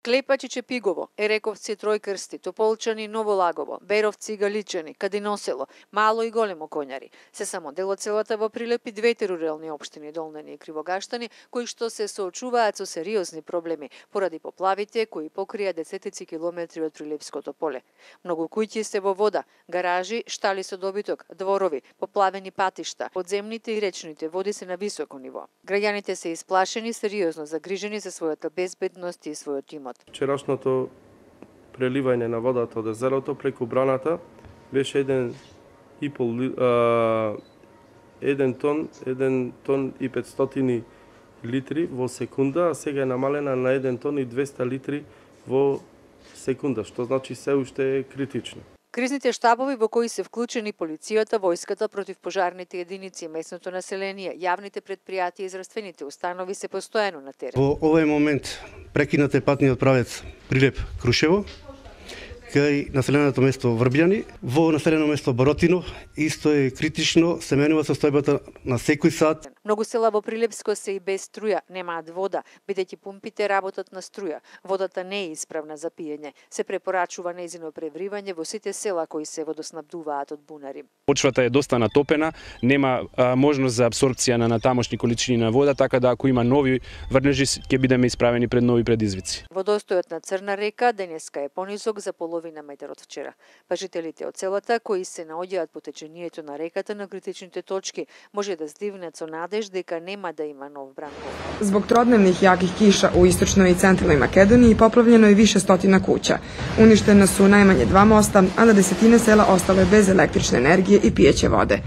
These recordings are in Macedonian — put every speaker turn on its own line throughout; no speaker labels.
Клепачи Чепигово, Ерековци Тројкрсти, Тополчани Новолагово, Беровци Галичани, Кадиносело, Мало и Големо Коњари. Се само дел од селата во Прилеп и двете рурални општини Долнени и Кривогаштани, кои што се соочуваат со сериозни проблеми поради поплавите кои покрија десетици километри од Прилепското поле. Многу куќи се во вода, гаражи, штали со добиток, дворови, поплавени патишта, подземните и речните води се на високо ниво. Граѓаните се исплашени, сериозно загрижени за својата безбедност и својот имот.
Вчерашното преливање на водата од езерото преку браната беше 1 тон и 500 литри во секунда, а сега е намалена на 1 тон и 200 литри во секунда, што значи се уште е критично.
Кризните штабови во кои се вклучени полицијата, војската, противпожарните единици, местното население, јавните претпријатија и здравствените установи се постојано на терен.
Во овој момент прекинат е патниот правец Прилеп-Крушево, кај населеното место Врбјани. Во населено место Боротино исто е критично, се менува состојбата на секој сат.
Многу села во Прилепско се и без струја, немаат вода, бидејќи пумпите работат на струја. Водата не е исправна за пиење. Се препорачува нејзино превривање во сите села кои се водоснабдуваат од бунари.
Почвата е доста натопена, нема можност за апсорбција на тамошни количини на вода, така да ако има нови врнежи ќе бидеме исправени пред нови предизвици.
Водостојот на Црна река денеска е понисок за половина метар од вчера. Па жителите од селата кои се наоѓаат по течението на реката на критичните точки може да здивнат со надеж дека нема да има нов бранков.
Због тродневних јаких киша у источној и централној Македонија поплавljeno е више стотина куќа. Уништена су најмање 2 моста, а на десетина села остале без електрична енергија и пијење воде.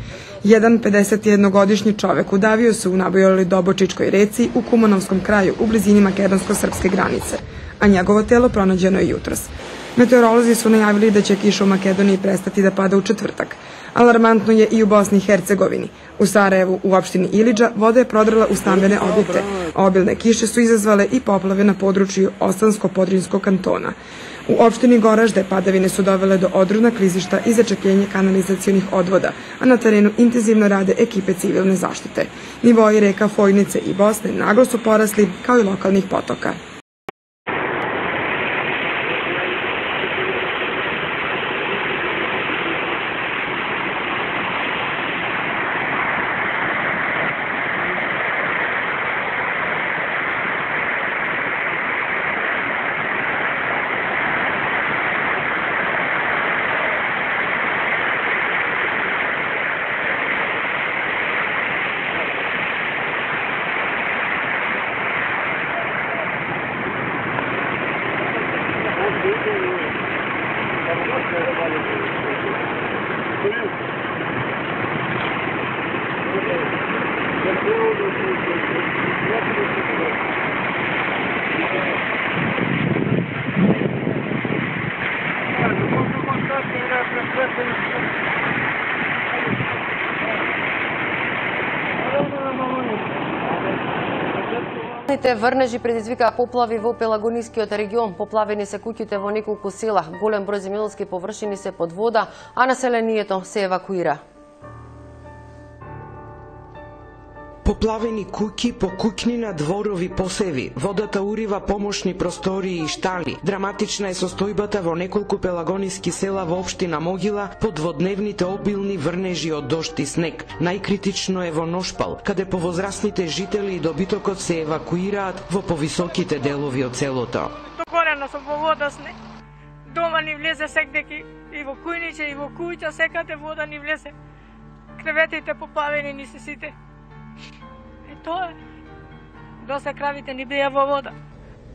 Jedan 51-годишни човек удавио се у набојалој Добочичкој реци у Кумановском крају у близини македонско-српске границе, а негово тело пронаđено е јутрос. Метеоролози су најавили да ќе киша у Македонiji престати да пада у четвртак. Алармантно je i u Bosni i Hercegovini. U Sarajevu, u opštini Iliđa, voda je prodrala u stambene objekte. Obilne kiše su izazvale i poplave na području Ostansko-Podrinjskog kantona. U opštini Goražde padavine su dovele do odrona klizišta i začepljenja kanalizacionih odvoda, a na terenu intenzivno rade ekipe civilne zaštite. Nivoji reka Fojnice i Bosne naglo su porasli, kao i lokalnih potoka.
Врнежи предизвикаа поплави во Пелагонискиот регион. Поплавени се куќите во неколку села. Голем број земјоделски површини се под вода, а населението се евакуира.
Поплавени куќи, покуќнина, дворови, посеви. Водата урива помошни простории и штали. Драматична е состојбата во неколку пелагониски села во општина Могила под дводневните обилни врнежи од дожд и снег. Најкритично е во Ношпал, каде повозрастните жители и добитокот се евакуираат во повисоките делови од селото.
Докорено со вода снег. Дома ни влезе секдеки и во кујниче и во куќа секаде вода ни влезе. Креветите поплавени ни се сите. Тоа е. Доста кравите ни беа во вода.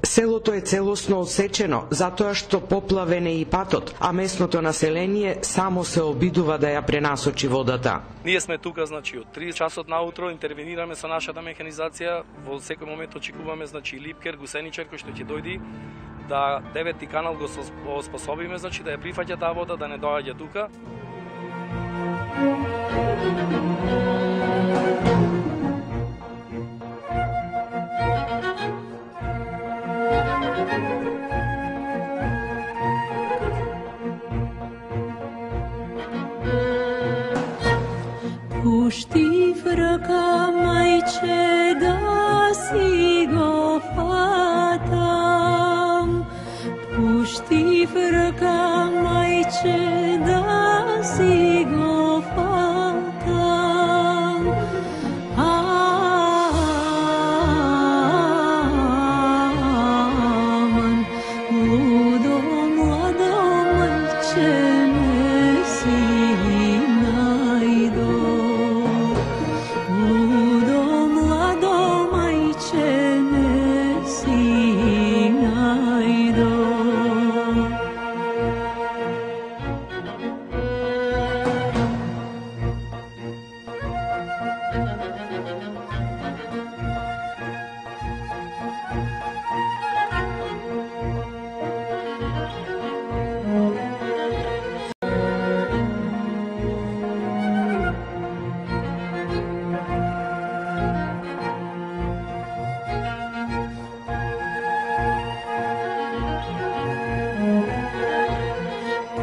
Селото е целосно одсечено, затоа што поплавен е и патот, а местното население само се обидува да ја пренасочи водата.
Ние сме тука, значи, од 3 часот наутро интервенираме со нашата механизација, во секој момент очекуваме, значи, липкер, гусеничар кој што ќе дојди да 9-ти канал го способиме, значи, да ја прифаќа таа вода, да не доаѓа тука.
Pušti vraka majče da si go fatam, puști fără ca maice da sigo fata aman udo mlado maice ne sinajdo udo mlado maice ne sinajdo.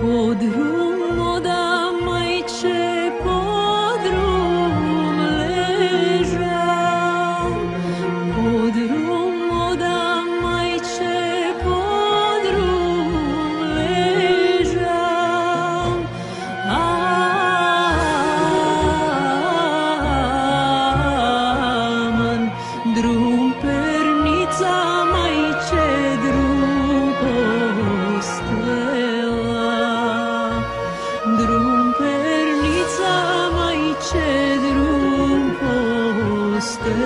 Podrum oda maice, podrum ležam. Podrum oda maice, podrum ležam. Aman, drum pernica maice, drum postela. Drum pernica maice, drum postela.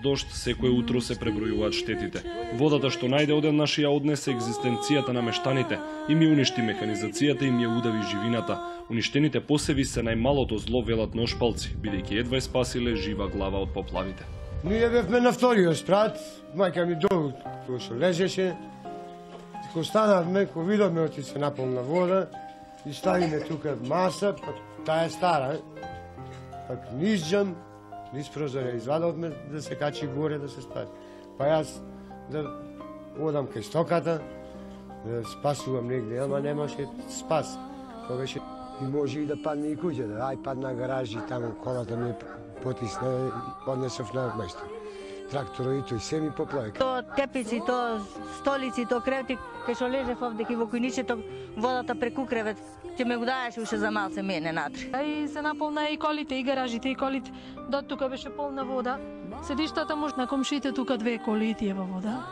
Дожд секое утро се пребројуваат штетите. Водата што најде одеднаш ја однесе екзистенцијата на мештаните и ми уништи механизацијата и ми ја удави живината. Уништените посеви се најмалото зло, велат ношпалци, бидејќи едва спасиле жива глава од поплавите.
Ние бевме на вториот спрат, мајка ми долу кој што лежеше. Ко станавме, ко видовме оти се наполна вода и ставиме тука маса, па таа е стара. Пак низџам, низ прозорја извадовме да се качи горе да се спаси. Па јас да одам кај стоката, да спасувам негде, ама немаше спас. Тоа беше и може и да падне и куќата. Ај падна гаражи, таму колата ми потисна и однесов на место. Тракторот и тој се ми поплави.
То тепици, то столици, то кревети, кај што лежев овде во кујничето, водата преку кревет, ќе ме го даеше уште за малце мене натре.
И се наполна и колите, и гаражите, и колите. До тука беше полна вода. Седиштата може на комшите тука две коли и тие во вода.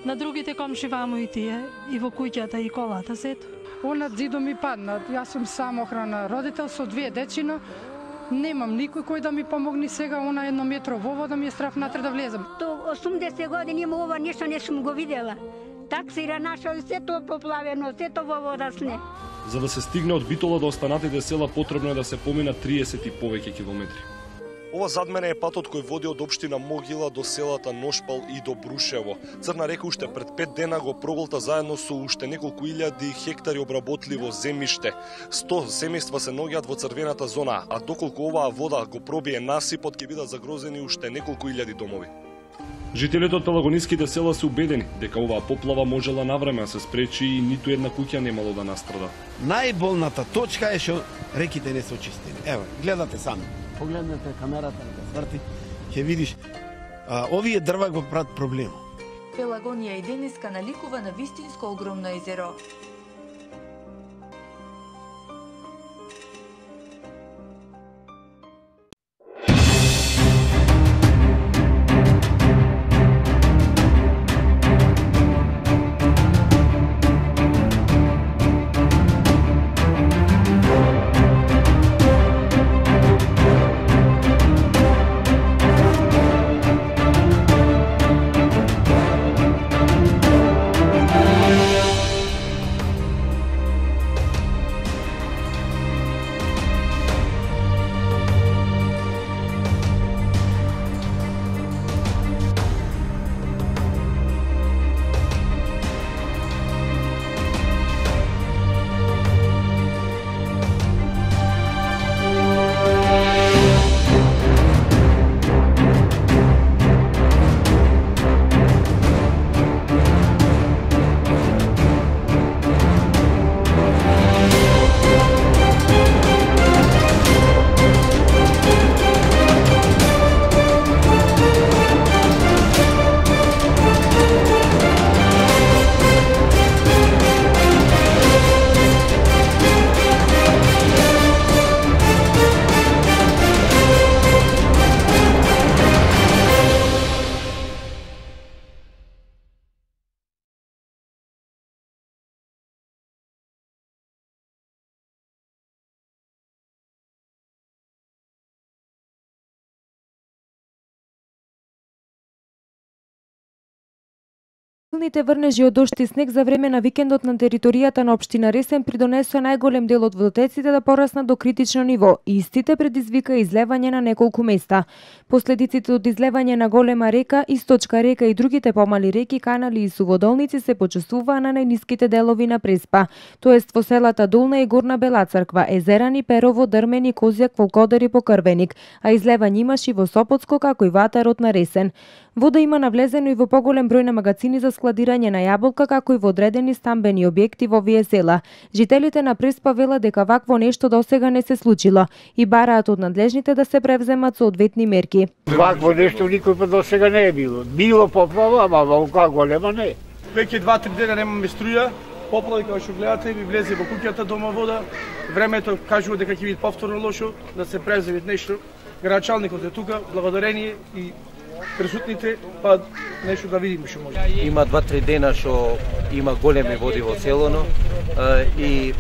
На другите комши вамо и тие, и во куќата и колата сето.
Онад зидо ми падна. Јас сум самохрана родител со две дечина. Немам никој кој да ми помогне сега, она 1 метро во вода ми е страф натре да влезам.
До 80 години има ова нешто не сум го видела. Таксира наша, сето поплавено, сето во вода сне.
За да се стигне од Битола до останатите села потребно е да се помина 30 и повеќе километри.
Ова зад мене е патот кој води од општина Могила до селата Ношпал и до Брушево. Црна река уште пред 5 дена го проголта заедно со уште неколку илјади хектари обработливо земјиште. 100 семејства се наоѓаат во црвената зона, а доколку оваа вода го пробие насипот, ќе бидат загрозени уште неколку илјади домови.
Жителите од пелагониските села се убедени дека оваа поплава можела навреме да се спречи и ниту една куќа немало да настрада.
Најболната точка е што реките не се очистени. Ево, гледате сами. Погледнете камерата да сврти, ќе видиш, овие дрва го прават проблем.
Пелагонија и денеска наликува на вистинско огромно езеро.
Силните врнежи од дожд и снег за време на викендот на територијата на општина Ресен придонесоа најголем дел од водотеците да пораснат до критично ниво и истите предизвика излевање на неколку места. Последиците од излевање на голема река, источка река и другите помали реки, канали и суводолници се почувствуваа на најниските делови на Преспа, тоест во селата Долна и Горна Белацрква, Езерани, Перово, Дрмени, Козјак, Волкодар и Покрвеник, а излевање имаше и во Сопотско како и ватарот на Ресен. Вода има навлезено и во поголем број на магацини за складирање на јаболка, како и во одредени стамбени објекти во овие села. Жителите на Преспа велат дека вакво нешто досега не се случило и бараат од надлежните да се превземат соодветни мерки.
Вакво нешто никој па досега не е било. Било поплава, ама волка голема не.
Веќе 2-3 дена немаме струја, поплави како што гледате ми влезе во куќата дома вода. Времето кажува дека ќе биде повторно лошо, да се преземе нешто. Градоначалникот е тука, благодарение и присутните, па нешто да видиме што може.
Има 2-3 дена што има големи води во селото и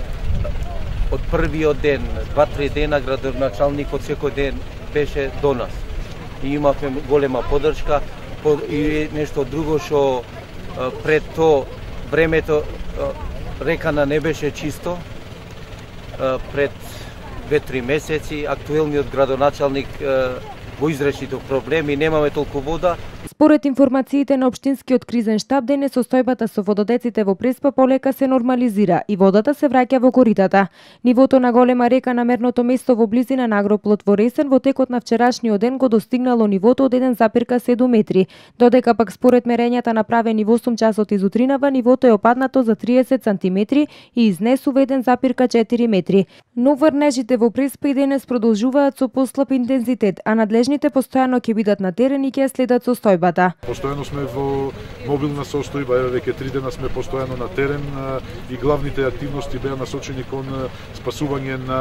од првиот ден, 2-3 дена градоначалникот секој ден беше до нас. И имавме голема поддршка и нешто друго што пред тоа времето рекана не беше чисто. Пред 2-3 месеци актуелниот градоначалник го изреши тој проблем и немаме толку вода.
Според информациите на општинскиот кризен штаб, денес состојбата со вододеците во Преспа полека се нормализира и водата се враќа во коритата. Нивото на голема река на мерното место во близина на Агроплот во Ресен во текот на вчерашниот ден го достигнало нивото од 1,7 метри, додека пак според мерењата направени во 8 часот изутринава, нивото е опаднато за 30 сантиметри и изнесува 1,4 метри. Но врнежите во Преспа и денес продолжуваат со послаб интензитет, а надлежните постојано ќе бидат на терен и ќе следат состојбата.
Постојано сме во мобилна состојба, еве веќе 3 дена сме постојано на терен и главните активности беа насочени кон спасување на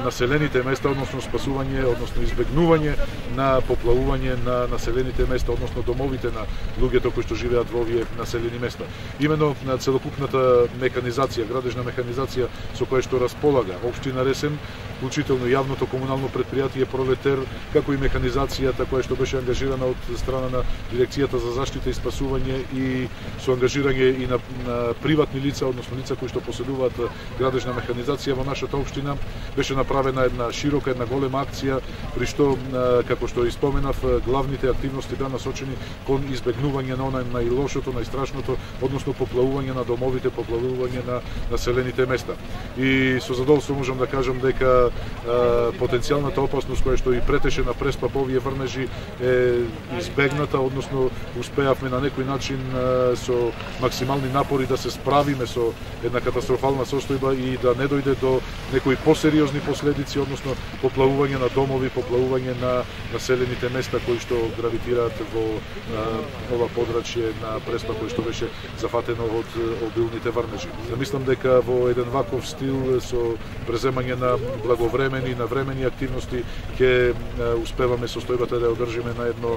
населените места, односно спасување, односно избегнување на поплавување на населените места, односно домовите на луѓето кои што живеат во овие населени места. Имено на целокупната механизација, градежна механизација со која што располага општина Ресен, вклучително јавното комунално предпријатие Пролетер, како и механизацијата која што беше ангажирана од страна на Дирекцијата за заштита и спасување и со ангажирање и на приватни лица, односно лица кои што поседуваат градежна механизација во нашата општина, беше направена една широка, една голема акција, при што, како што и споменав, главните активности беа насочени кон избегнување на онај најлошото, најстрашното, односно поплавување на домовите, поплавување на населените места. И со задоволство можам да кажам дека потенцијалната опасност која што и претеше на Преспа по овие врнежи е избегната, односно успеавме на некој начин со максимални напори да се справиме со една катастрофална состојба и да не дојде до некои посериозни последици, односно поплавување на домови, поплавување на населените места кои што гравитираат во ова подрачје на Преспа кој што беше зафатено од обилните врнежи. Мислам дека во еден ваков стил со преземање на благовремени, навремени активности ќе успеваме состојбата да ја одржиме на едно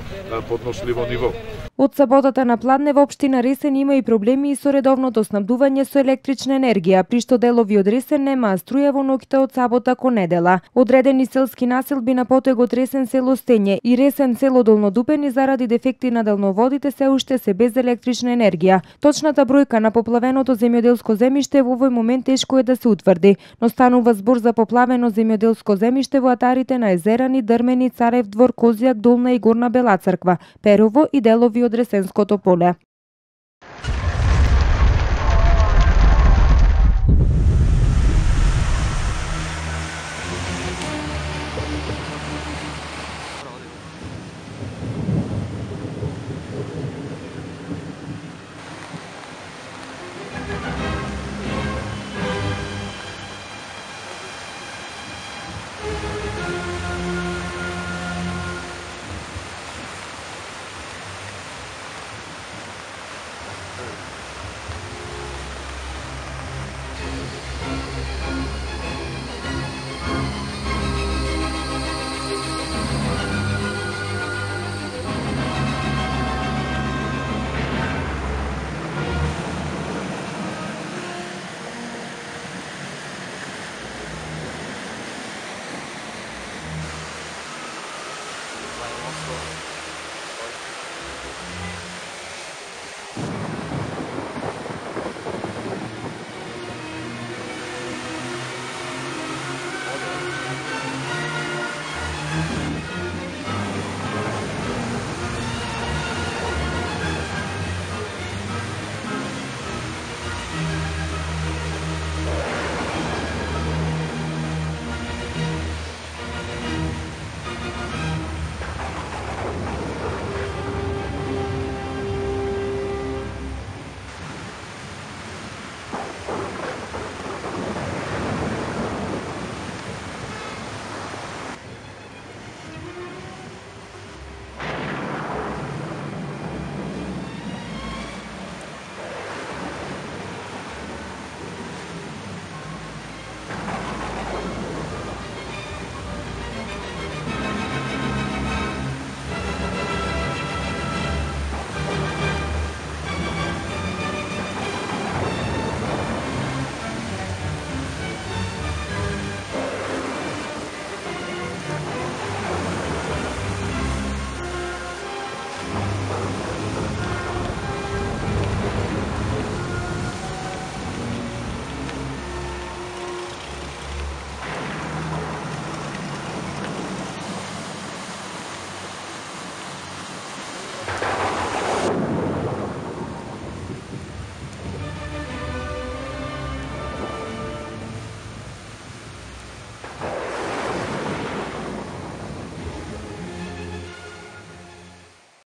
подносливо ниво.
Од саботата на пладне во општина Ресен има и проблеми и со редовното снабдување со електрична енергија, при што делови од Ресен немаа струја во ноќта од сабота кон недела. Одредени селски населби на потегот Ресен село Стење и Ресен село Долнодупени заради дефекти на далноводите се уште се без електрична енергија. Точната бројка на поплавеното земјоделско земјиште во овој момент тешко е да се утврди, но станува збор за поплавено земјоделско земјиште во атарите на Езерани, Дрмени, Царев двор, Козјак, Долна и Горна Белацрква, Перово и делови од Ресенското поле.